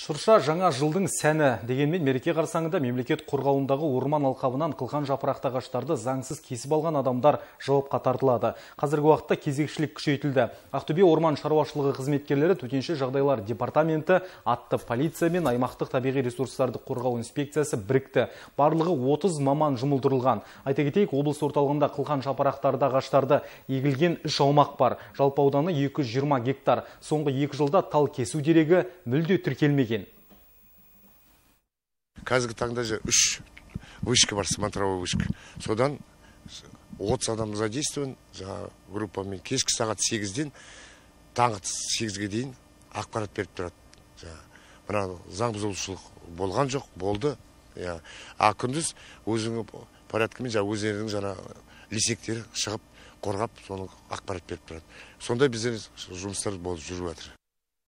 Шырша жаңа жылдың сәні. Дегенмен мереке қарсаңында мемлекет қорғауындағы орман алқабынан қылқан жапырақты ағаштарды заңсыз кесіп алған адамдар жауапқа тартылады. Қазіргі уақытта кезекшілік күшейтілді. Ақтөбе орман шаруашылығы қызметкерлері төтенше жағдайлар департаменті атты полиция мен аймақтық табиғи ресурстарды қорғау инспекциясы бірікті. Барлығы 30 маман жұмылдырылған. Айта кетейік, облыс орталығында қылқан жапырақтарды ағаштарды егілген 3 аумақ бар. Жалпы ауданы 220 гектар. Соңғы 2 жылда тал кесу дерегі мүлде тіркелмеген. Қазіргі таңда 3 вышка бар, смотровой вышка. Содан 30 адам задействован, группамен кешкі сағат 8-ден таңғы 8-ге дейін ақпарат беріп тұрады. Мына заң бұзушылық болған жоқ, болды. А күндіз өзінің порядкімен өздерінің жаңа лисектері шығып, қорғап, соны ақпарат беріп тұрады. Сонда біздер жұмыстар болып жүріп жатыр.